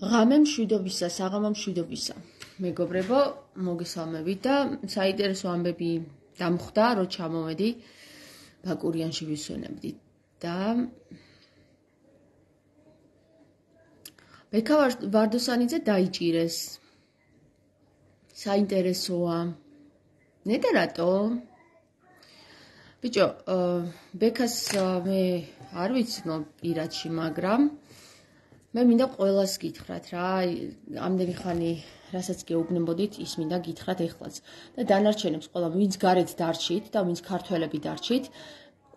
ღამე მშვიდობისა, საღამო მშვიდობისა. მეგობრებო, მოგესალმებით და საინტერესო ამბები დამხვდა, რომ ჩამოვედი ბაკურიანში ვისვენებდით და ბექა ვარდოსანიძე დაიჭირეს. საინტერესოა. ნეტა რატო? ბიჭო, ბექას მე არ ვიცი პირადში, მაგრამ მე მინდა ყველას გითხრათ რა, ამდენი ხანი რასაც გეუბნებოდით, ის მინდა გითხრათ ეხლაც. და დანარჩენებს ყველა, ვინც გარეთ დარჩით და ვინც ქართველები დარჩით,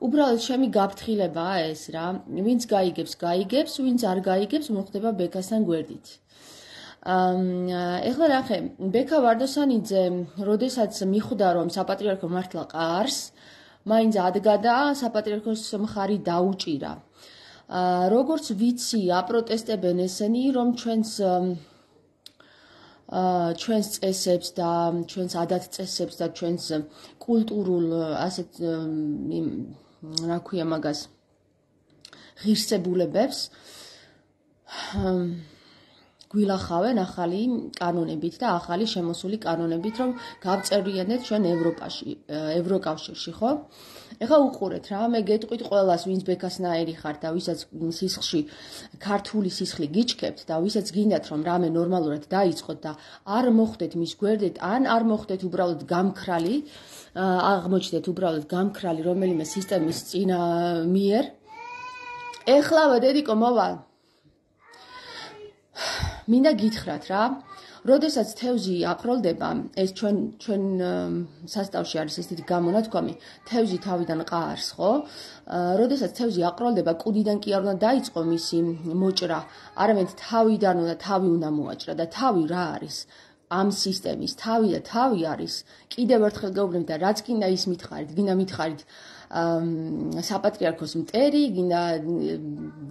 უბრალოდ ჩემი გაფრთხილებაა ეს რა. ვინც გაიგებს, გაიგებს, ვინც არ გაიგებს, მოხდება ბექასთან გვერდით. ეხლა ნახე, ბექა ვარდოსანიძე, როდესაც მიხვდა, რომ საპატრიარქო მართლა ყარს, მაინც ადგა და საპატრიარქოს მხარი დაუჭირა. როგორც ვიცი, აპროტესტებენ ესენი, რომ ჩვენს წესებს და ჩვენს ადათ-წესებს და ჩვენს კულტურულ ასეთ რა ქვია მაგას ღირსებულებებს გვილახავენ ახალი კანონებით და ახალი შემოსული კანონებით, რომ გავწერიანეთ ჩვენ ევროკავშირში, ხო? ეხლა უყურეთ რა, მე გეტყვით ყველას, ვინც ბექასნაირი ხართ და ვისაც სისხლში ქართული სისხლი გიჩქებთ და ვისაც გინდათ, რომ რამე ნორმალურად დაიწყოთ და არ მოხდეთ მის გვერდით, ან არ მოხდეთ უბრალოდ გამქრალი, აღმოჩნდეთ უბრალოდ გამქრალი რომელიმე სისტემის წინამიერ. ეხლავე დედიკო მოვალ. მინდა გითხრათ რა, როდესაც თევზი აყროლდება, ეს ჩვენ სასწავლში არის ეს დიდი გამონათქვამი, თევზი თავიდან ყარს, ხო? როდესაც თევზი აყროლდება, კუდიდან კი არ უნდა დაიწყო მისი მოჭრა, არამედ თავი უნდა მოაჭრა და თავი რა არის? ამ სისტემის თავი და თავი არის. კიდევ ერთხელ გეუბნებით და რაც გინდა ის მითხარით, გინდა მითხარით საპატრიარქოს მტერი,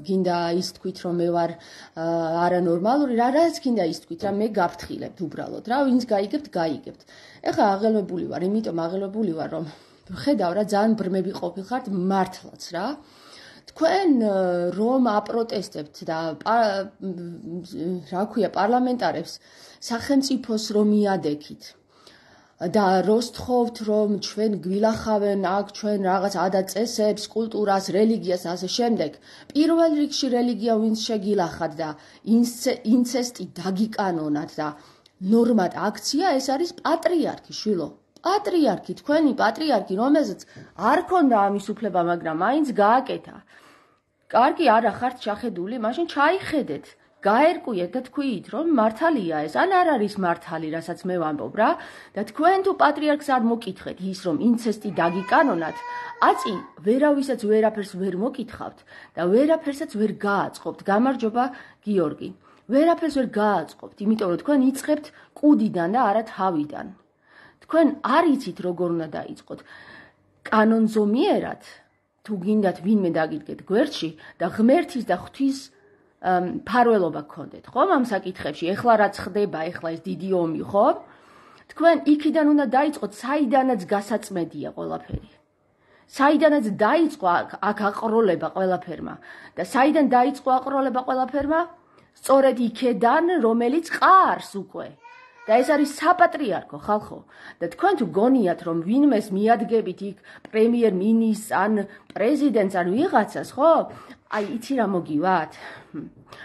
გინდა ის თქვით, რომ მე ვარ არანორმალური, რაც გინდა ის თქვით, რა მე გაფრთხილებთ უბრალოდ, რა ვინც გაიგებთ, გაიგებთ. ეხლა აღელვებული ვარ, იმიტომ აღელვებული ვარ, რომ ხედავ რა ძალიან ბრმები ყოფილხართ მართლაც რა. თქვენ რომ აპროტესტებთ და რა ქვია პარლამენტარებს სახელმწიფოს რომ მიადექით და როსთხოვთ, რომ ჩვენ გვილახავენ აქ ჩვენ რაღაც ადათ-წესებს, კულტურას, რელიგიას და ასე შემდეგ. პირველ რიგში რელიგია ვინც შეგილახათ და ინცესტი დაგიკანონათ და ნორმად აქცია, ეს არის პატრიარქი, შვილო. პატრიარქი, თქვენი პატრიარქი, რომელზეც არ ქონდა ამის უფლება, მაგრამ მაინც გააკეთა. კარგი არა ხართ ჩახედული, მაშინ ჩაიხედეთ. გაერკვიეთ და თქვით, რომ მართალია ეს, ან არ არის მართალი, რასაც მე ვამბობ რა. და თქვენ თუ პატრიარქს არ მოკითხეთ ის, რომ ინცესტი დაგიკანონათ, აწი ვერავისაც ვერაფერს ვერ მოკითხავთ და ვერაფერსაც ვერ გააწყობთ. გამარჯობა, გიორგი. ვერაფერს ვერ გააწყობთ, იმიტომ რომ თქვენ იწყებთ კუდიდან და არა თავიდან. თქვენ არ იცით როგორ უნდა დაიწყოთ. კანონზომიერად, თუ გინდათ ვინმე დაგიდგეთ გვერდში და ღმერთის და ღვთის ფარველობა გქონდეთ, ხო? ამ საკითხებში, ეხლა რაც ხდება, ეხლა ეს დიდი ომი, ხო? თქვენ იქიდან უნდა დაიწყოთ, საიდანაც გასაწმედია ყველაფერი. საიდანაც დაიწყო აქ აყროლება ყველაფერმა და საიდან დაიწყო აყროლება ყველაფერმა? სწორედ იქედან, რომელიც ყარს უკვე. და ეს არის საპატრიარქო ხალხო. და თქვენ თუ გონიათ, რომ ვინმეს მიადგებით იქ პრემიერ-მინისტრს ან პრეზიდენტს ან ვიღაცას, ხო? აი, იცი რა მოგივათ?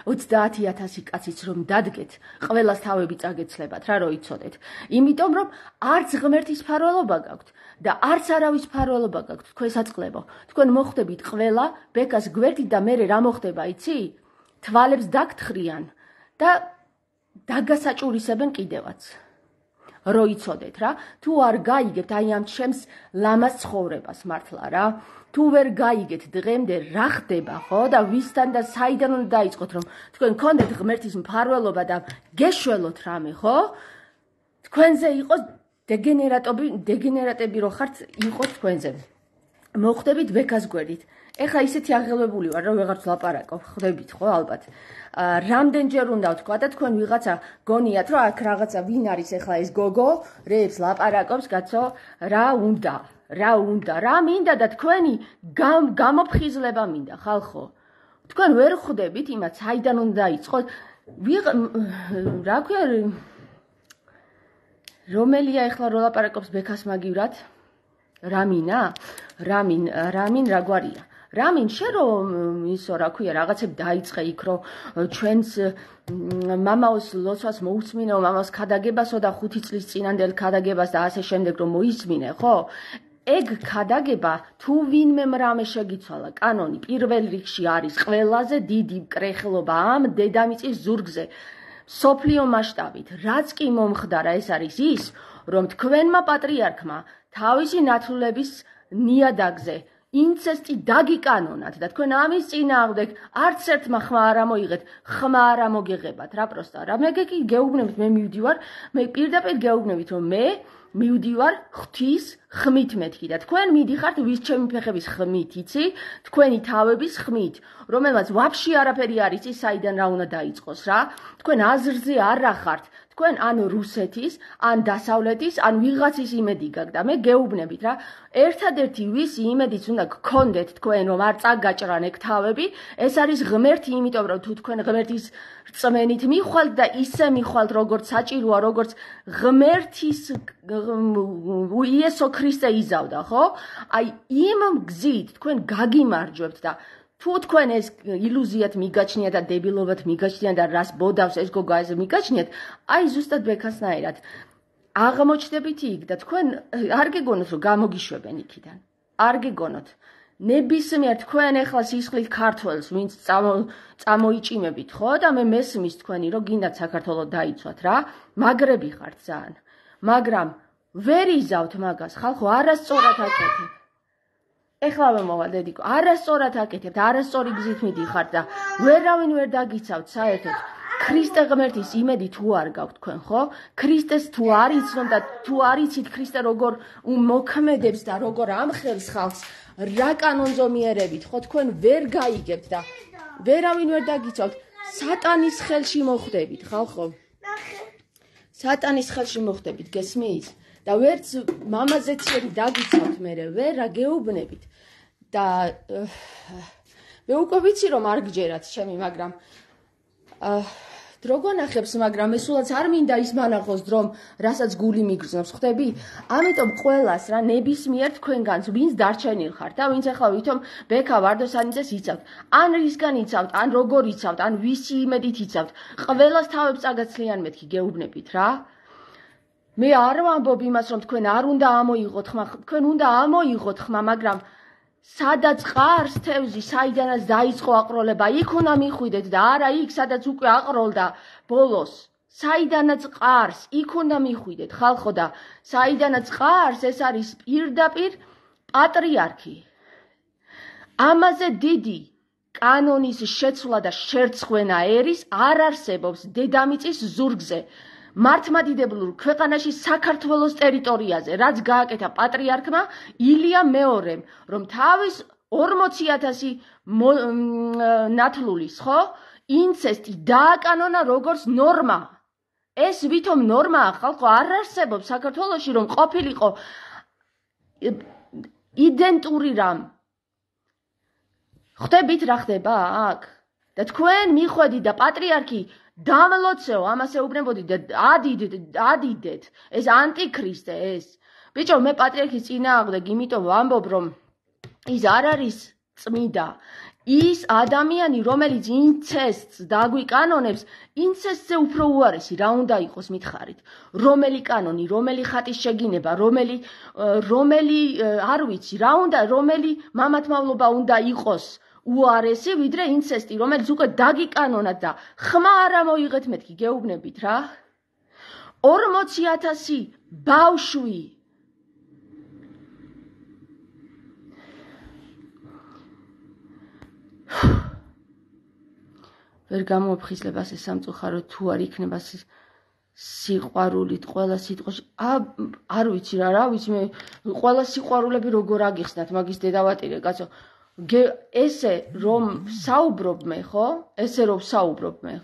30,000 კაციც რომ დადგეთ, ყველას თავები წაგეცლებათ რა, რომ იცოდეთ. იმიტომ რომ არც ღმერთის ფარველობა გაქვთ და არც არავის ფარველობა გაქვთ, თქვენ საწყლებო. თქვენ მოხდებით ყველა ბეკას გვერდით და მერე რა მოხდება, იცი? თვალებს დაგთხრიან და დაგასაჭურისებენ კიდევაც. რო იცოდეთ რა, თუ არ გაიგებთ აი ამ ჩემს ლამაზ ცხოვრებას მართლა რა, თუ ვერ გაიგეთ დღემდე რა ხდება, ხო? და ვისთან და საიდან უნდა დაიწყოთ, რომ თქვენ გქონდეთ ღმერთის მფარველობა და გეშველოთ რამე, ხო? თქვენზე იყოს დეგენერატები რო ხართ, იყოს თქვენზე. მოხდებით ბექას გვერდით. ეხლა ისეთი აღელვებული ვარ, რომ ვეღარც ლაპარაკობ, ხვდებით ხო ალბათ. რამდენჯერ უნდა ვთქვა და თქვენ ვიღაცა გონიათ, რომ აქ რაღაცა ვინ არის ეხლა ეს გოგო, რეებს ლაპარაკობს, კაცო, რა უნდა, რა მინდა და თქვენი გამოფხიზლება მინდა, ხალხო. თქვენ ვერ ხვდებით იმას, საიდან უნდა დაიწყოთ რა ქვია რომელია ეხლა რო ლაპარაკობს ბექას მაგივრად? რამინ რა გვარია? რამინ შენ რომ ისო რა ქვია რაღაცები დაიწყე იქ რომ ჩვენს მამაოს ლოცვას მოусმინეო, მამაოს ქადაგებასო და 5 წლის წინანდელ ქადაგებას და ასე შემდეგ რომ მოისმინე, ხო? ეგ ქადაგება თუ ვინმე რამე შეგიცვალა, კანონი პირველ რიგში არის ყველაზე დიდი კრეხლობა ამ დედამიწის ზურგზე. სოფლიო მასშტაბით, რაც კი მომხდარა, ეს არის ის, რომ თქვენმა პატრიარქმა თავისი ნათლულების ნიადაგზე ინცესტი დაგიკანონათ და თქვენ ამის წინააღმდეგ არც ერთმა ხმა არ ამოიღეთ, ხმა არ ამოგეღებათ რა პროსტა რა. მე გეუბნებით, მე მივდივარ, მე პირდაპირ გეუბნებით, რომ მე მივდივარ ღვთის ხმით მეთქი და თქვენ მიდიხართ ვის ჩემი ფეხების ხმით, იცი? თქვენი თავების ხმით, რომელმაც ვაფშე არაფერი არის ის საიდან რა უნდა დაიწყოს რა. თქვენ აზრზე არ ახართ. თქვენ ან რუსეთის, ან დასავლეთის, ან ვიღაცის იმედი გაქვთ და მე გეუბნებით რა. ერთადერთი ვისი იმედიც უნდა გქონდეთ თქვენ რომ არ წაგაჭრან ეგ თავები, ეს არის ღმერთი, იმიტომ რომ თუ თქვენ ღმერთის რწმენით მიხვალთ და ისე მიხვალთ როგორც საჭიროა, როგორც ღმერთის იესო ქრისტე იზავდა, ხო? აი იმ გზით თქვენ გაგიმარჯვებთ და თუ თქვენ ეს ილუზიად მიგაჩნიათ და დებილობად მიგაჩნიათ და რას ბოდავს ეს გოგა ეს მიგაჩნიათ, აი ზუსტად ბექასნაირად აღმოჩნდებით იქ და თქვენ არ გეგონოთ რომ გამოგიშვებენ იქიდან. არ გეგონოთ. ნებისმიერ თქვენ ეხლა სისხლით ქართველს ვინც წამოიჭიმებით, ხო? და მე მესმის თქვენი რომ გინდათ საქართველოს დაიცვათ რა. მაგრები ხართ ძალიან. მაგრამ ვერ იზავთ მაგას, ხალხო, არასწორად აკეთებ. ეხლავე მოვალ დედიკო, არასწორად აკეთებთ, არასწორი გზით მიდიხართ და ვერავინ ვერ დაგიცავთ საერთოდ. ქრისტე ღმერთის იმედი თუ არ გაქვთ თქვენ, ხო? ქრისტეს თუ არ იცნობ და თუ არ იცით ქრისტე როგორ მოქმედებს და როგორ ამხელს ხალხს, რა კანონზომიერებით, ხო, თქვენ ვერ გაიგებთ და ვერავინ ვერ დაგიცავთ. სატანის ხელში მოხვდებით, ხალხო. სატანის ხელში მოხვდებით, გესმის? და ვერც მამაზეციერი დაგიცავთ მერე, ვერ რა გეუბნებით. და მე უკვე ვიცი რომ არ გჯერათ ჩემი, მაგრამ დრო გონახებს, მაგრამ ესულაც არ მინდა ის მანახოს დრომ, რასაც გული მიგრძნობს, ხვდები? ამიტომ ყველას რა ნებისმიერ თქვენგანს, ვინც დარჩენილ ხართ და ვინც ახლა ვითომ ბექა ვარდოსანიძეს იცავთ, ან რისგან იცავთ, ან როგორ იცავთ, ან ვისი იმედით იცავთ, ყველას თავებს წაგაცლიან მეთქი გეუბნებით რა. მე არ ვამბობ იმას, რომ თქვენ არ უნდა ამოიღოთ ხმა, თქვენ უნდა ამოიღოთ ხმა, მაგრამ სადაც ყარს თევზი, საიდანაც დაიწყო აყროლება, იქ უნდა მიხვიდეთ და არა იქ, სადაც უკვე აყროლდა ბოლოს. საიდანაც ყარს, იქ უნდა მიხვიდეთ, ხალხო და საიდანაც ყარს, ეს არის პირდაპირ პატრიარქი. ამაზე დიდი კანონის შეცვლა და შერცხვენა ერის არ არსებობს დედამიწის ზურგზე. მართლმადიდებლურ ქვეყანაში საქართველოს ტერიტორიაზე, რაც გააკეთა პატრიარქმა ილია მეორემ, რომ თავის 40,000 ნათლულის, ხო, ინცესტი დააკანონა როგორც ნორმა. ეს ვითომ ნორმაა, ხალხო, არ არსებობს საქართველოში, რომ ყოფილიყო იდენტური რამ. ხვდებით რა ხდება აქ? და თქვენ მიხვედით და პატრიარქი დამლოცეო, ამას ეუბნებოდი და ადიდეთ, ეს ანტიქრისტე ეს. ბიჭო, მე პატრიარქის წინააღმდეგ იმიტომ ვამბობ, რომ ის არ არის წმიდა. ის ადამიანი, რომელიც ინცესტს დაგვიკანონებს, ინცესტზე უფრო უარესი რა უნდა იყოს მითხარით. რომელი კანონი, რომელი ხატის შეგინება, რომელი არ ვიცი, რა უნდა, რომელი მამათმავლობა უნდა იყოს უარესი, ვიდრე ინცესტი, რომელიც უკვე დაგიკანონათ და ხმა არ ამოიღეთ მეთქი, გეუბნებით რა. 40,000 ბავშვი. ვერ გამოფხიზლებას ეს სამწუხარო თუ არ იქნება სიყვარულით ყველა სიტყვაში. არ ვიცი რა ვიცი მე ყველა სიყვარულები როგორ აგიხსნათ მაგის დედავატირე კაცო. ესე რომ საუბრობ მე, ხო? ესე რომ საუბრობ მე.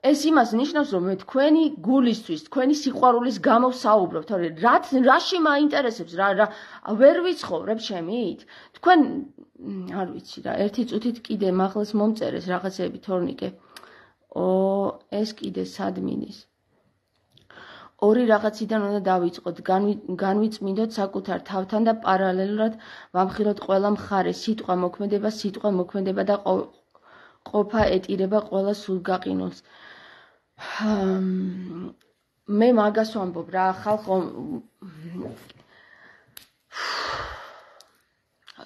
ეს იმას ნიშნავს, რომ მე თქვენი გულისთვის, თქვენი სიყვარულის გამო საუბრობ, თორე რაში მაინტერესებს რა ვერ ვიცხოვრებ შემით. თქვენ არ ვიცი რა, ერთი წუთით კიდე მაღლას მომწერეს რაღაცეები თორნიკე. ეს კიდე სადმინის ორი რაღაციდან უნდა დავიწყოთ განვიწმინდოთ საკუთარ თავთან და პარალელურად ვამხილოთ ყველა მხარე სიტყვა მოქმედება და ყოფა ეტირება ყველა სულგაყინულს მე მაგას ვამბობ რა ხალხო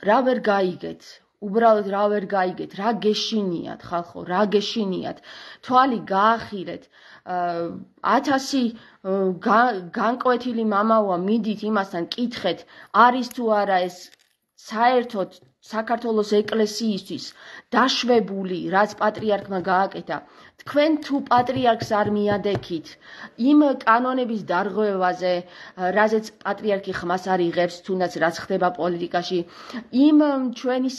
რა ვერ გაიგეთ უბრალოდ რა ვერ გაიგეთ რა გეშინიათ ხალხო რა გეშინიათ თვალი გაახილეთ 1000 განკვეთილი მამაოა მიდით იმასთან კითხეთ არის თუ არა ეს საერთოდ საქართველოს ეკლესიისთვის დაშვებული რაც პატრიარქმა გააკეთა თქვენ თუ პატრიარქს არ მიადექით იმ კანონების დარღვევაზე რაზეც პატრიარქი ხმას არ იღებს თუნდაც რაც ხდება პოლიტიკაში იმ ჩვენი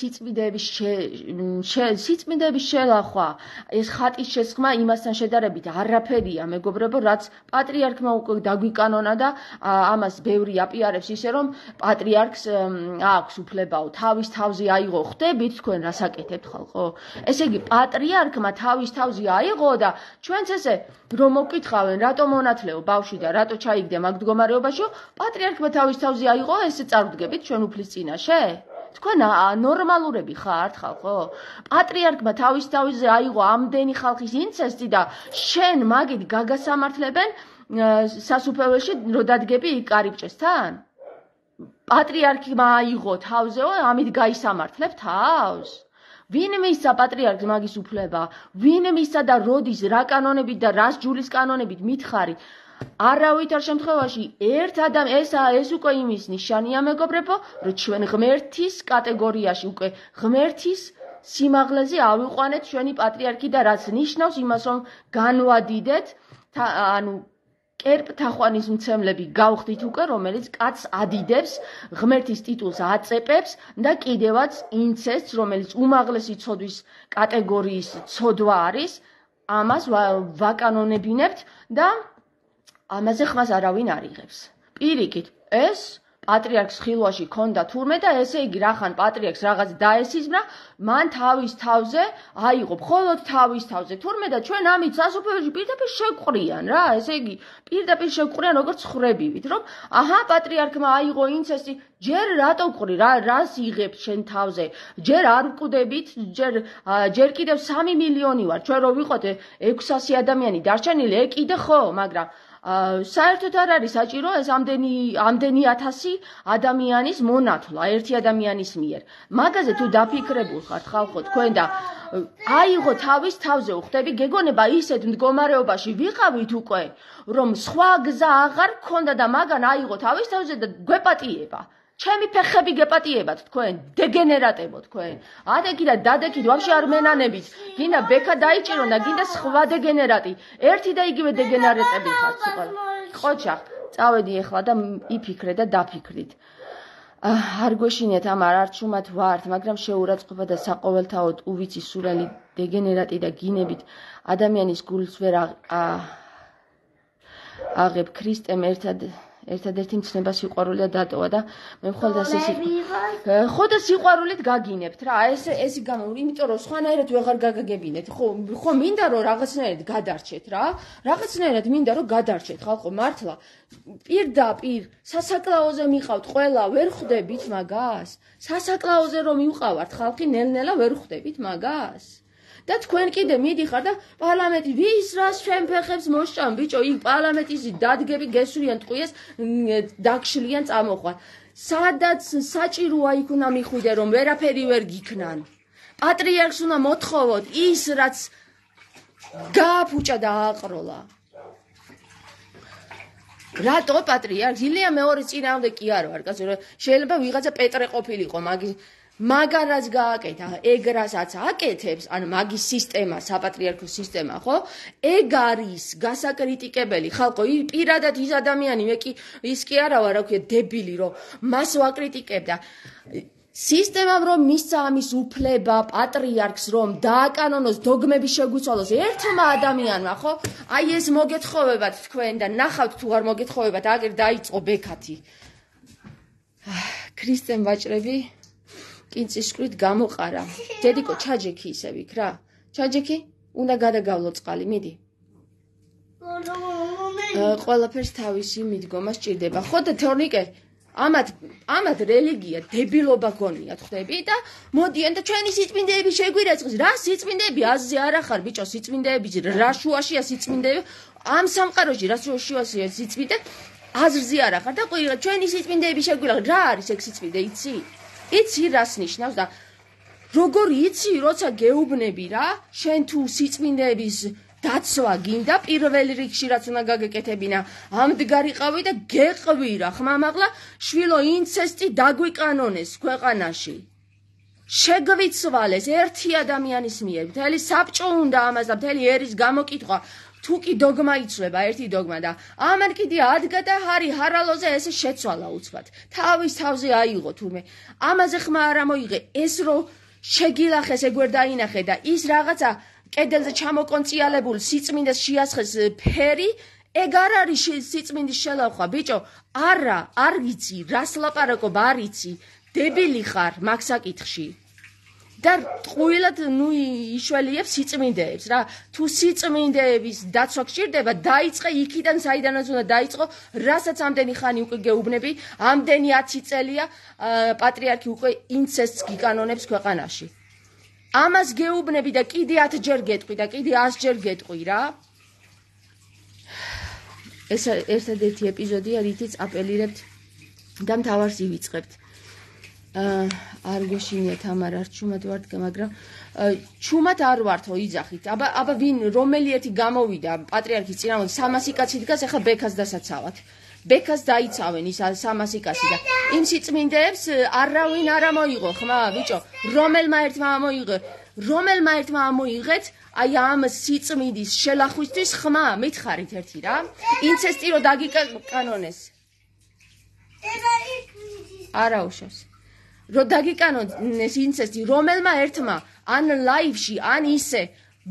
სიწმინდეების შელახვა ეს ხატის შესხმა იმასთან შედარებით არაფერია მეგობრებო რაც პატრიარქმა უკვე დაგვიკანონა და ამას ბევრი აპიარებს ისე რომ პატრიარქს აქვს უფლებაო თავის თავზე აიღო ხდებით თქვენ რას აკეთებთ ხალხო ესე იგი პატრიარქმა თავის თავზე აიღო და ჩვენც ესე რომ მოკითხავენ რატო მონათლეო ბავშვი და რატო ჩაიგდე მაგ მდგომარეობაში პატრიარქმა თავის თავზე აიღო ესე წარვდგებით ჩვენ უფლის წინაშე თქვენ ნორმალურები ხართ ხალხო პატრიარქმა თავის თავზე აიღო ამდენი ხალხის ინცესტი და შენ მაგით გაგასამართლებენ სასუფეველში რო დადგები იქ კარიბჭესთან პატრიარქმა აიღო თავზეო ამით გაისამართლებ თავს ვინ მისცა პატრიარქს მაგის უფლება ვინ მისცა და როდის რა კანონებით და რას ჯულის კანონებით მითხარი არავითარ შემთხვევაში ერთ ეს უკვე იმის ნიშანია მეგობრებო რომ ჩვენ ღმერთის კატეგორიაში უკვე ღმერთის სიმაღლეზე ავიყვანეთ ჩვენი პატრიარქი და რაც ნიშნავს იმას რომ განვადიდეთ ანუ კერპთახვანის მცემლები გავხდით უკვე რომელიც კაცს ადიდებს ღმერთის ტიტულს აწეპებს და კიდევაც ინცესტს რომელიც უმაღლესი ცოდვის კატეგორიის ცოდვა არის ამას ვაკანონებინებთ და ამაზე ხმას არავინ არ იღებს პირიქით ეს პატრიარქს ხილვაში ქონდა თურმე და ესე იგი რახან პატრიარქს რაღაც დაესიზმრა მან თავის თავზე აიღო მხოლოდ თავის თავზე თურმე და ჩვენ ამით სასუფეველში პირდაპირ შევყრიან რა ესე იგი პირდაპირ შევყრიან როგორც ხრებივით რომ აჰა პატრიარქმა აიღო ინცესტი ჯერ რატო ყრი რას იღებ შენ თავზე ჯერ არ ვკვდებით ჯერ კიდევ 3 მილიონი ვარ ჩვენ რო ვიყოთ 600 ადამიანი დარჩენილი კიდე ხო მაგრამ საერთოდ არ არის საჭირო ეს ამდენი 1000 ადამიანის მონათლა ერთი ადამიანის მიერ მაგაზე თუ დაფიქრებულ ხართ ხალხო თქვენ და აიღო თავის თავზე უხდები გეგონება ისეთ მდგომარეობაში ვიყავით უკვე რომ სხვა გზა აღარ გქონდა და მაგან აიღო თავის თავზე და გვეპატიება ჩემი ფეხები გეპატიებათ თქვენ დეგენერატებო თქვენ ადექი და დადექით ვაფშე არ მენანებით გინდა ბექა დაიჭირონ და გინდა სხვა დეგენერატი ერთი და იგივე დეგენერატები ხართ სულ ყოჩა წავედი ახლა და იფიქრე და დაფიქრით არ გვეშინიათ ამ არჩუმად ვართ მაგრამ შეურაცხყოფა და საყოველთაოდ უვიცი სულელი დეგენერატი და გინებით ადამიანის გულს ვერ აღებ ქრისტემ ერთადერთი მცნება სიყვარული და დატოვა და მე მხოლოდ ასე ხო და სიყვარულით გაგინებთ რა ეს იმიტომ რომ სხვანაირად ვეღარ გაგაგებინეთ ხო მინდა რომ რაღაცნაირად გადარჩეთ რა რაღაცნაირად მინდა რომ გადარჩეთ ხალხო მართლა პირდაპირ სასაკლაოზე მიყავთ ყველა ვერ ხვდებით მაგას სასაკლაოზე რომ მივყავართ ხალხი ნელ-ნელა ვერ ხვდებით მაგას და თქვენ კიდე მიდიხარ და პარლამენტი ვის რას ჩვენ ფეხებს მოსჭამ ბიჭო იქ პარლამენტის დადგები გესვრიან ტყვიეს დაგშლიან წამოყვან სადაც საჭიროა იქ უნდა მიხვიდე რომ ვერაფერი ვერ გიქნან პატრიარქს უნდა მოთხოვოთ ის რაც გააფუჭა და ააყროლა რატო პატრიარქს ილია მეორე წინააღმდეგ კი არ ვარ კაცო შეიძლება ვიღაცა პეტრე ყოფილიყო მაგარაც გააკეთა ეგ რასაც აკეთებს ან მაგის სისტემა საპატრიარქო სისტემა ხო ეგ არის გასაკრიტიკებელი ხალხო პირადად ის ადამიანი მე კი ის კი არა ვარ რა ქვია დებილი რომ მას ვაკრიტიკებ და სისტემამ რომ მისცა ამის უფლება პატრიარქს რომ დააკანონოს დოგმები შეგვიცვალოს ერთმა ადამიანმა ხო აი ეს მოგეთხოვებათ თქვენ და ნახავთ თუ არ მოგეთხოვებათ აგერ დაიწყო ბექათი ქრისტემ ვაჭრები კინწისკვრით გამოყარა. დედიკო, ჩაჯექი ისევ იქ რა. ჩაჯექი? უნდა გადაგავლო წყალი, მიდი. ყველაფერს თავისი მიდგომა სჭირდება. ხო და თორნიკე ამათ რელიგია დებილობა გონიათ ხვდები და მოდიან და ჩვენი სიწმინდეები შეგვირეცხეს. რა სიწმინდეები აზზე არ ახარ ბიჭო სიწმინდეები რა შუაშია სიწმინდეები ამ სამყაროში რა შუაშია სიწმინდე აზრზე არ ახარ და ყველა ჩვენი სიწმინდეები შეგვირეცხეს. რა არის ეგ სიწმინდე იცი რას ნიშნავს და როგორ იცი როცა გეუბნები რა შენ თუ სიწმინდეების დაცვა გინდა პირველ რიგში რაც უნდა გაგეკეთებინა ამდგარიყავი და გეყვი რა ხმამაღლა შვილო ინცესტი დაგვიკანონეს ქვეყანაში შეგვიცვალეს ერთი ადამიანის მიერ მთელი საბჭო უნდა ამას და მთელი ერის გამოკითხვა თუ კი დოგმა იცვლება ერთი დოგმა და ამან კიდე ადგა და ჰარალოზე ესე შეცვალა უცბად თავის თავზე აიღო თურმე ამაზე ხმა არ მოიღე ეს რო შეგილახეს ეგვერ დაინახე და ის რაღაცა კედელზე ჩამოკონციალებულ სიწმინდეს შეასხეს ფერი ეგ არ არის სიწმინდის შელახვა ბიჭო არა არ ვიცი რას ლაპარაკობ არ იცი დებილი ხარ მაგ საკითხში და ტყუილად იშველიებს სიწმინდეებს რა თუ სიწმინდეების დაცვა გჭირდება დაიწყე იქიდან საიდანაც უნდა დაიწყო რასაც ამდენი ხანი უკვე გეუბნები ამდენი 10 წელია პატრიარქი უკვე ინცესტს გიკანონებს ქვეყანაში ამას გეუბნები და კიდე 10 ჯერ გეტყვი და კიდე 100 ჯერ გეტყვი რა ეს ერთადერთი ეპიზოდია რითიც აპელირებთ და მთავარს ივიწყებთ არ გეშინია თამარ არ ჩუმად ვართ მაგრამ ჩუმად არ ვართო იძახით აბა ვინ რომელი ერთი გამოვიდა პატრიარქის წინააღმდეგ 300 კაცი დგას ახლა ბექას დასაცავად ბექას დაიცავენ ის 300 კაცი და იმ სიწმინდეებს არავინ არ მოიღო ხმა ბიჭო რომელმა ერთმა მოიღეთ აი ამ სიწმინდის შელახვისთვის ხმა მითხარით ერთი რა ინცესტი რო დაგიკანონეს არა უშავს რო დაგიკანონეს ინცესტი რომელმა ერთმა ან ლაივში ან ისე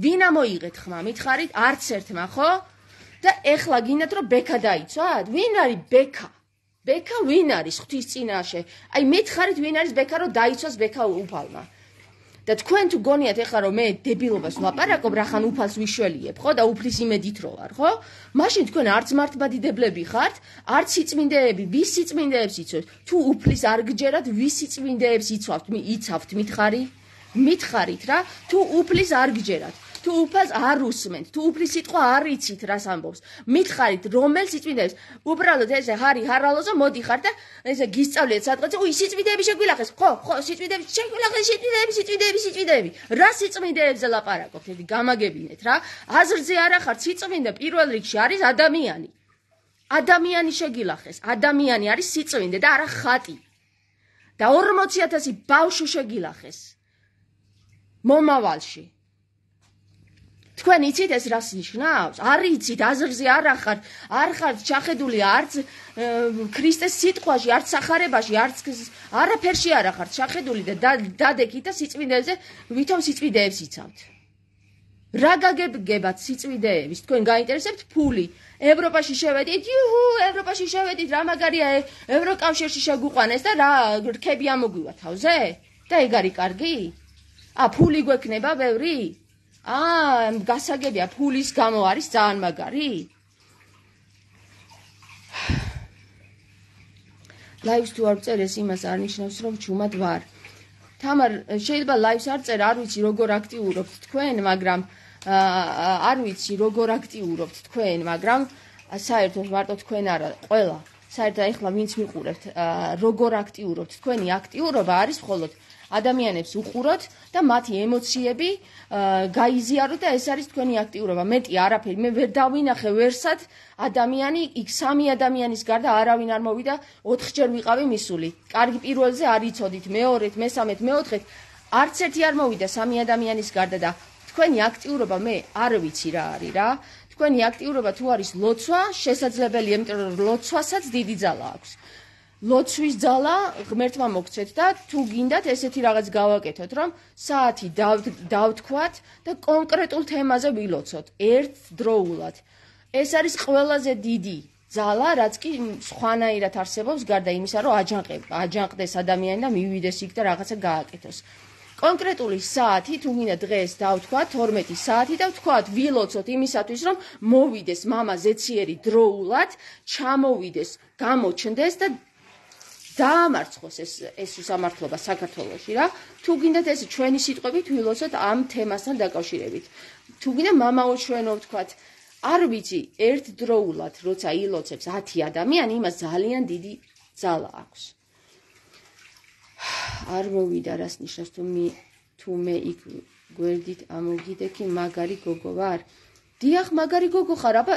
ვინა მოიღეთ ხმა მითხარით არც ერთმა ხო და ეხლა გინდათ რომ ბექა დაიცვათ ვინ არის ბექა ვინ არის ღვთის წინაშე აი მითხარით ვინ არის ბექა რომ დაიცვას ბექა უფალმა და თქვენ თუ გონიათ ეხლა რომ მე დებილობას ვლაპარაკობ რახან უფალს ვიშველიებ ხო და უფლის იმედით რო ვარ ხო მაშინ თქვენ არც მართლმადიდებლები ხართ არც სიწმინდეები ვის სიწმინდეებს იცავთ თუ უფლის არ გჯერათ ვის სიწმინდეებს იცავთ მითხარით რა თუ უფლის არ გჯერათ თუ უფალს არ უსმენთ თუ უფლის სიტყვა არ იცით რას ამბობს მითხარით რომელ სიწმინდეებს უბრალოდ ესე ჰარალოზო მოდიხარ და ესე გისწავლეთ სადღაც სიწმინდეები შეგვილახეს ხო სიწმინდეები შეგვილახეს სიწმინდეები რა სიწმინდეებზე ლაპარაკობთ ედი გამაგებინეთ რა აზრზე არ ახართ სიწმინდე პირველ რიგში არის ადამიანი შეგილახეს ადამიანი არის სიწმინდე და არა ხატი და 40000 ბავშვი შეგილახეს მომავალში თქვენ იცით ეს რას ნიშნავს? არ იცით, აზრზე არ ხართ ჩახედული არც ქრისტეს სიტყვაში, არც სახარებაში, არაფერში არ ხართ ჩახედული და დადეკით და სიწმინდეებზე ვითომ სიწმინდეებს იცავთ. რა გაგებგებათ სიწმინდეების? თქვენ გაინტერესებთ ფული? ევროპაში შევედით, ევროპაში შევედით, რა მაგარია ევროკავშირში შეგვიყვანეს და რა რქები ამოგვივა თავზე? და ეგ არის კარგი? ფული გვექნება ბევრი? გასაგებია ფულის გამო არის ძალიან მაგარი? ლაივს თუ არ წერეს იმას არ ნიშნავს რომ ჩუმად ვარ. თამარ შეიძლება ლაივს არ წერ, არ ვიცი როგორ აქტიურობთ თქვენ, მაგრამ საერთოდ მარტო თქვენ არა, ყველა. საერთოდ ეხლა ვინც მიყურებთ, როგორ აქტიურობთ თქვენი აქტიურობა არის მხოლოდ ადამიანებს უყუროთ და მათი ემოციები გაიზიაროთ და ეს არის თქვენი აქტიურობა. მეტი არაფერი, მე ვერ დავინახე ვერსად ადამიანი, იქ 3 ადამიანის გარდა არავინ არ მოვიდა, 4 ჯერ ვიყავი მისული. კარგი პირველზე არ იცოდით, მეორეთ, მესამეთ, მეოთხეთ, არც ერთი არ მოვიდა 3 ადამიანის გარდა და თქვენი აქტიურობა მე არ ვიცი რა არის რა. თქვენი აქტიურობა თუ არის ლოცვა, შესაძლებელია, იმიტომ რომ ლოცვასაც დიდი ძალა აქვს. ლოცვის ძალა ღმერთმა მოგცეთ და თუ გინდათ ესეთი რაღაც გავაკეთოთ, რომ საათი დავთქვათ და კონკრეტულ თემაზე ვილოცოთ ერთდროულად. ეს არის ყველაზე დიდი ძალა, რაც კი სხვანაირად არსებობს, გარდა იმისა, რომ აჯანყდეს ადამიანი და მივიდეს იქ და რაღაცა გააკეთოს. კონკრეტული საათი, თუ მინდა დღეს დავთქვათ 12 საათი და ვთქვათ ვილოცოთ იმისათვის, რომ მოვიდეს მამა ზეციერი დროულად, ჩამოვიდეს, გამოჩნდეს და დაამარცხოს ეს უსამართლობა საქართველოში რა. თუ გინდათ ეს ჩვენი სიტყვებით ვილოცოთ ამ თემასთან დაკავშირებით. თუ გინდა მამაო ჩვენო ვთქვათ, არ ვიცი, ერთდროულად როცა ილოცებს 10 ადამიანი, იმას ძალიან დიდი ძალა აქვს. არ მოვიდა რას ნიშნავს თუ მე იქ გვერდით ამოგიდექი მაგარი გოგო ვარ. დიახ, მაგარი გოგო ხარ, აბა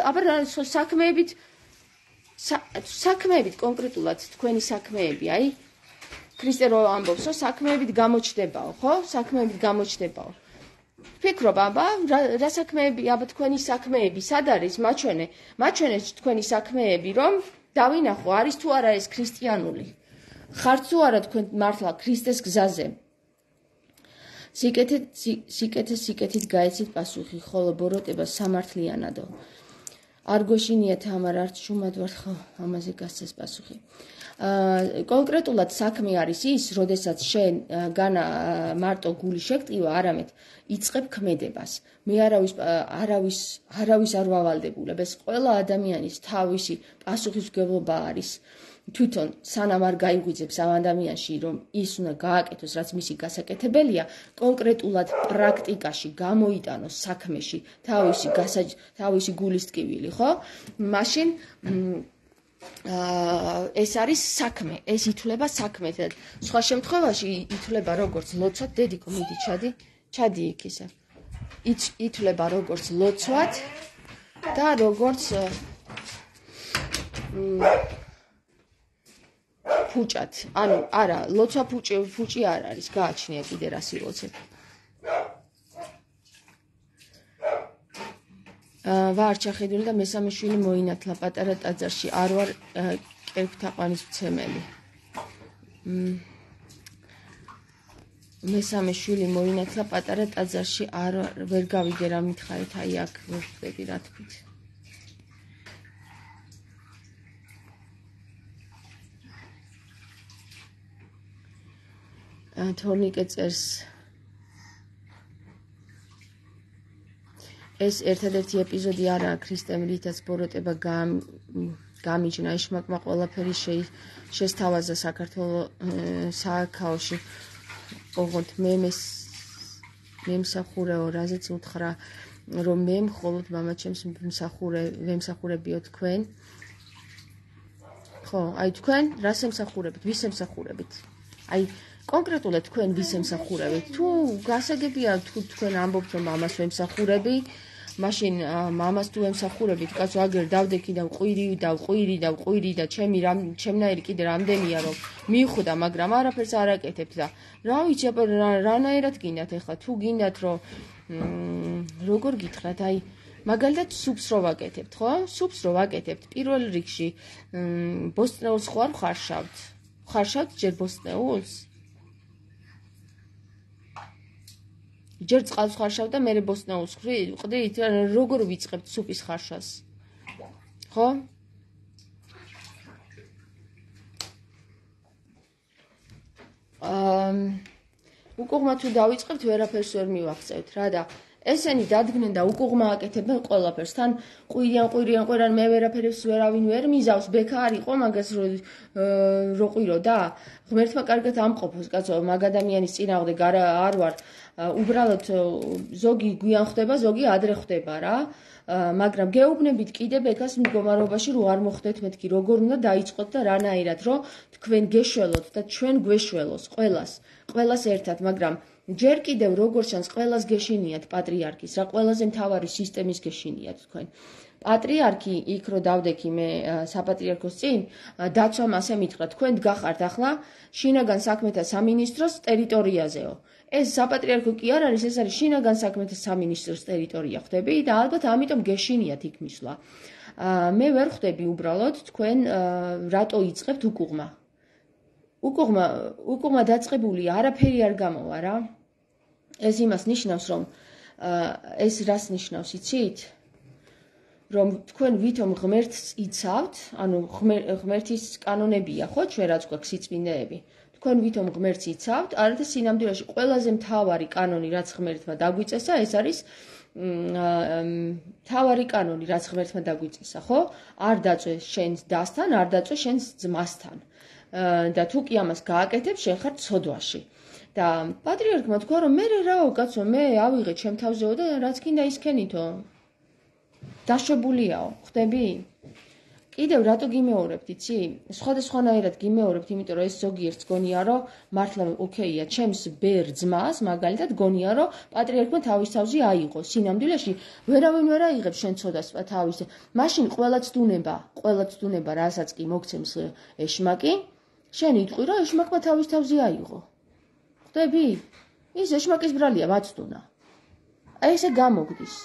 საქმეებით კონკრეტულად თქვენი საქმეები, აი ქრისტე რო ამბობს, რომ საქმეებით გამოჩნდებაო, ხო? საქმეებით გამოჩნდებაო. ფიქრობ, აბა რა საქმეები, აბა თქვენი საქმეები სად არის? მაჩვენე თქვენი საქმეები, რომ დავინახო, არის თუ არა ეს ქრისტიანული. ხართ თუ არა თქვენ მართლა ქრისტეს გზაზე. სიკეთით გაეცით პასუხი, ხოლო ბოროტება სამართლიანადო. არ გვეშინია თამარ, არც შუმად ვარ, ხო, ამაზე გასცეს პასუხი. კონკრეტულად საქმე არის ის, როდესაც შენ განა მარტო გული შეგტივა, არამედ იწყებ ქმედებას. მე არავის არ ვავალდებულებ, ეს ყველა ადამიანის თავისი პასუხისმგებლობა არის. თვითონ სანამ არ გაიღვიძებს ამ ადამიანში, რომ ის უნდა გააკეთოს, რაც მისი გასაკეთებელია, კონკრეტულად პრაქტიკაში გამოიტანოს საქმეში თავისი გულის ტკივილი, ხო? მაშინ ეს არის საქმე, ეს ითვლება საქმე. სხვა შემთხვევაში ითვლება როგორც ლოცვად, დედიკო, მიდი ჩადი იქ ისე. ითვლება როგორც ლოცვად და როგორც ფუჭად. ანუ არა, ლოცვა ფუჭი არ არის, გააჩნია კიდე რას ილოცებ. ვარ ჩახედული და მესამე შვილი მოინათლა პატარა ტაძარში, არ ვარ კერპთაყვანის მცემელი. მესამე შვილი მოინათლა პატარა ტაძარში, ვერ გავიგე რა მითხარით, აი აქ ვერ ხვდები რა თქვით. თორნიკე წერს ეს ერთადერთი ეპიზოდი არაა ქრისტემ რითაც ბოროტება გამიჯნა იშმაკმა ყველაფერი შესთავაზა საქართველოში ოღონდ მე მსახურეო რაზეც უთხრა რომ მე მხოლოდ მამაჩემს ვემსახურებიო თქვენ ხო აი თქვენ რას ემსახურებით ვის ემსახურებით აი კონკრეტულად თქვენ ვის ემსახურებით თუ გასაგებია თუ თქვენ ამბობთ რომ მამას ვემსახურები მაშინ მამას თუ ემსახურებით კაცო აგერ დავდექი და ვყვირი და ჩემნაირი კიდე რამდენია რომ მივხვდა მაგრამ არაფერს არ აკეთებთ და რა ვიცი რანაირად გინდათ ეხლა თუ გინდათ რომ როგორ გითხრათ აი მაგალითად სუპს რო ვაკეთებთ ხო სუპს რო ვაკეთებთ პირველ რიგში ბოსტნეულს ხო არ ხარშავთ ჯერ ბოსტნეულს ჯერ წყალს ხარშავ და მე ბოსტნეულს ვყდით როგორ ვიწყებთ სუპის ხარშას ხო უკუღმა თუ დავიწყებთ ვერაფერს ვერ მივახცევთ რა და ესენი დადგნენ და უკუღმა აკეთებენ ყველაფერს თან ყვირიან მე ვერაფერს ვერავინ ვერ მიზავს ბექა არ იყო მაგას რო ყვირო და ღმერთმა კარგად ამყოფოს კაცო მაგ ადამიანის წინააღმდეგ არ ვარ უბრალოდ ზოგი გვიან ხდება ზოგი ადრე ხდება რა მაგრამ გეუბნებით კიდე ბექას მდგომარეობაში რო არ მოხდეთ მეთქი როგორ უნდა დაიწყოთ და რანაირად რომ თქვენ გეშველოთ და ჩვენ გვეშველოს ყველას ერთად მაგრამ ჯერ კიდევ როგორ ჩანს ყველას გეშინიათ პატრიარქის რა ყველაზე მთავარი სისტემის გეშინიათ თქვენ პატრიარქი იქ რო დავდექი მე საპატრიარქოს წინ დაცვამ ასე მითხრა თქვენ გახართ ახლა შინაგან საქმეთა სამინისტროს ტერიტორიაზეო ეს საპატრიარქო კი არ არის ეს არის შინაგან საქმეთა სამინისტროს ტერიტორია ხდები და ალბათ ამიტომ გეშინიათ იქ მისვლა მე ვერ ხვდები უბრალოდ თქვენ რატო იწყებთ უკუღმა დაწყებული არაფერი არ გამოვა რა ეს იმას ნიშნავს რომ ეს რას ნიშნავს იცით რომ თქვენ ვითომ ღმერთს იცავთ ანუ ღმერთის კანონებია ხო ჩვენ რაც გვაქვს სიწმინდეები თქვენ ვითომ ღმერთს იცავთ, არათა სინამდვილეში ყველაზე მთავარი კანონი, რაც ღმერთმა დაგვიწესა, ეს არის მთავარი კანონი, რაც ღმერთმა დაგვიწესა, ხო? არ დაწვეს შენს დასთან, არ დაწვეს შენს ძმასთან. და თუ კი ამას გააკეთებ, შენ ხარ ცოდვაში. და პატრიარქმა თქვა, რომ მე რაო კაცო, მე ავიღე ჩემ თავზეო და რაც გინდა ისქენითო. დაშვებულიაო, ხვდები? კიდევ რატო გიმეორებთ, იცი? სხვადასხვანაირად გიმეორებთ, იმიტომ რომ ეს ზოგიერთს გონია, რომ მართლა ოკეია, ჩემს ბერ ძმას, მაგალითად გონია, რომ პატრიარქმა თავის თავზე აიღო. სინამდვილეში ვერავინ ვერ აიღებს შენ ცოდას თავის. მაშინ ყველაც დუნება, რასაც კი მოგცემს ეშმაკი, შენ იტყვი, რომ ეშმაკმა თავის თავზე აიღო. ხვდები? ის ეშმაკის ბრალია მაცდუნა. აი ესე გამოგდის.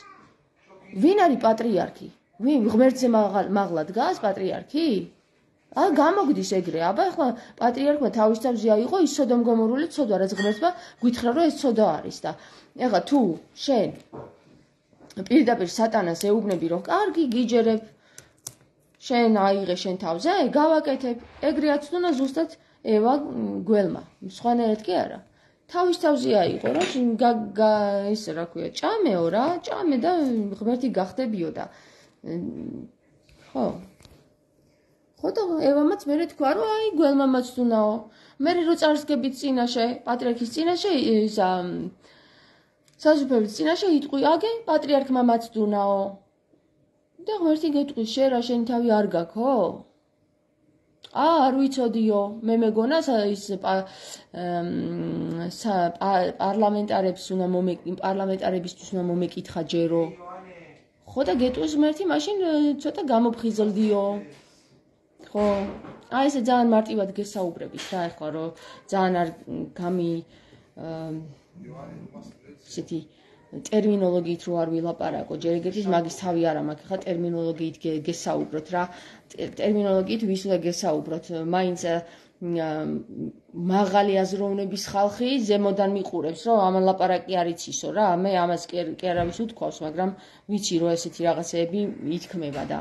ვინ არის პატრიარქი? ვინ ღმერთზე მაღლა დგას პატრიარქი? გამოგდის ეგრე. აბა ახლა პატრიარქმა თავის თავზე აიღო ის სოდომგომორული ცოდვა, რაც ღმერთმა გითხრა, რომ ეს ცოდვა არის და ეხლა თუ შენ პირდაპირ სატანას ეუბნები, რომ კარგი გიჯერებ, შენ აიღე შენ თავზე, გავაკეთებ. ეგრე აცდუნა ზუსტად ევა გველმა. სხვანაირად კი არა. თავის თავზე აიღო, რომ ისე რა ქვია, ჭამეო რა, ჭამე და ღმერთი გახდებიო და ხო და ევამაც მერე თქვა, რომ აი გველმა მაცდუნაო. მერე რო წარსგებით წინაშე, პატრიარქის წინაშე, ისა საზუფევის წინაშე იტყვი, აგე პატრიარქმა მაცდუნაო. და ღმერთი გეტყვის, შენ რა შენი თავი არ გაქო? არ ვიცოდიო, მე მეგონა ის პარლამენტარებისთვის უნდა მომეკითხა ჯერო. ხო და გეტყვის ღმერთი, მაშინ ცოტა გამოფხიზლდიო. ხო, აი ესე ძალიან მარტივად გესაუბრებით რა ეხლა, რომ ძალიან არ ისეთი ტერმინოლოგიით რო არ ვილაპარაკო, ჯერ ეგეთის მაგის თავი არ მაქვს, ხა ტერმინოლოგიით გესაუბროთ რა. ტერმინოლოგიით ვის უნდა გესაუბროთ? მაინც მაღალი აზროვნების ხალხი ზემოდან მიყურებს, რომ ამან ლაპარაკი არ იცისო რა. მე ამას კი არავის უთქვავს, მაგრამ ვიცი რომ ესეთი რაღაცეები ითქმება და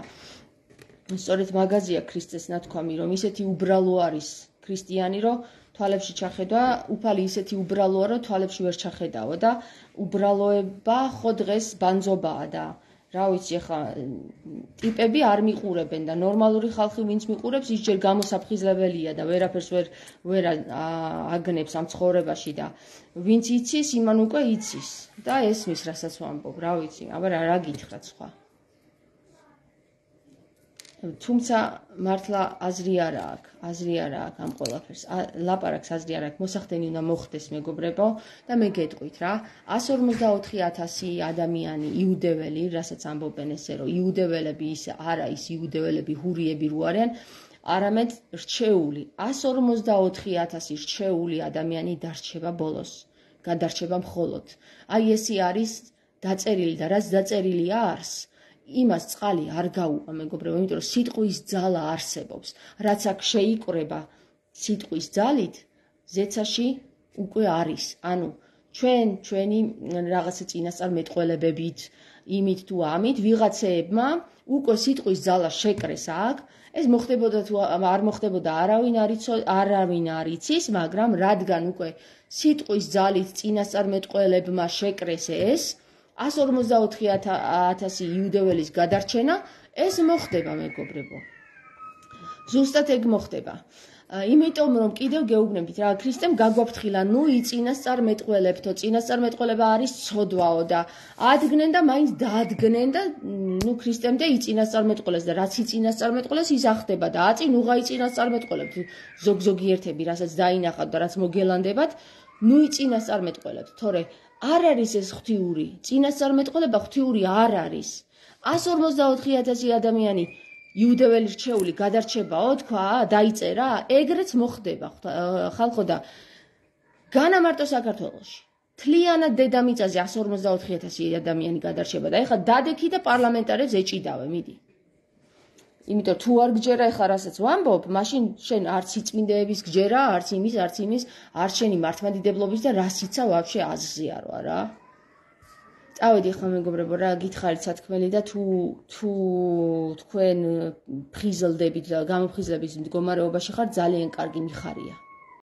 სწორედ მაგაზია ქრისტეს ნათქვამი, რომ ისეთი უბრალო არის ქრისტიანი, რომ თვალებში ჩახედვა, უფალი ისეთი უბრალოა, რომ თვალებში ვერ ჩახედაო და უბრალოება ხო დღეს ბანძობაა და რა ვიცი, ხა ტიპები არ მიყურებენ და ნორმალური ხალხი ვინც მიყურებს, ის ჯერ გამოსაფხიზლებელია და ვერაფერს ვერ აგნებს ამ ცხოვრებაში და ვინც იცის, იმან უკვე იცის და ესმის, რასაც ვამბობ, რა ვიცი, აბა რა გითხრათ სხვა. თუმცა მართლა აზრი არ აქვს ამ ყველაფერს. ლაპარაკს აზრი არ აქვს, მოსახდენი უნდა მოხდეს მეგობრებო და მე გეტყვით რა, 144,000 ადამიანი იუდეველი, რასაც ამბობენ ესე, რომ იუდეველები ის არა ის იუდეველები ჰურიები რო არიან, არამედ რჩეული, 144,000 რჩეული ადამიანი დარჩება ბოლოს, გადარჩება მხოლოდ. აი ესე არის დაწერილი და რაც დაწერილია არს. იმას წყალი არ გაუყვა მეგობრებო, იმიტომ რომ სიტყვის ძალა არსებობს. რაც აქ შეიკრება სიტყვის ძალით, ზეცაში უკვე არის. ანუ ჩვენი რაღაცა წინასწარმეტყველებებით, იმით თუ ამით ვიღაცეებმა უკვე სიტყვის ძალა შეკრეს აქ, ეს მოხდებოდა თუ არ მოხდებოდა არავინ არ იცის, მაგრამ რადგან უკვე სიტყვის ძალით წინასწარმეტყველებმა შეკრეს ეს 144,000 იუდეველის გადარჩენა, ეს მოხდება მეგობრებო. ზუსტად ეგ მოხდება. იმიტომ რომ კიდევ გეუბნებით რა, ქრისტემ გაგვაფრთხილა, ნუ იწინასწარმეტყველებთო, წინასწარმეტყველება არის ცოდვაო და ადგნენ და მაინც დაადგნენ და ნუ ქრისტემდე იწინასწარმეტყველეს და რაც იწინასწარმეტყველეს ის ახდება და აწინ უღა იწინასწარმეტყველებთ ზოგიერთები, რასაც დაინახავთ და რაც მოგელანდებათ, ნუ იწინასწარმეტყველებთ, თორე არ არის ეს ღვთიური, წინასწარმეტყველება ღვთიური არ არის. 144,000 ადამიანი იუდეველი რჩეული გადარჩებაო, თქვა, დაიწერა, ეგრეც მოხდება ხალხო და განა მარტო საქართველოში. თლიანად დედამიწაზე 144,000 ადამიანი გადარჩება და ეხლა დადექი და პარლამენტარებს ეჭიდავე, მიდი. იმიტომ თუ არ გჯერა ეხლა რასაც ვამბობ, მაშინ შენ არც იწმინდეების გჯერა, არც იმის, არც შენი მართლმადიდებლობის და რასიცა ვაფშე აზზე არვა რა. წავედი ხომ მეგობრებო რა გითხარით სათქმელი და თუ თქვენ ფხიზლდებით და გამოფხიზლების მდგომარეობაში ხარ ძალიან კარგი მიხარია.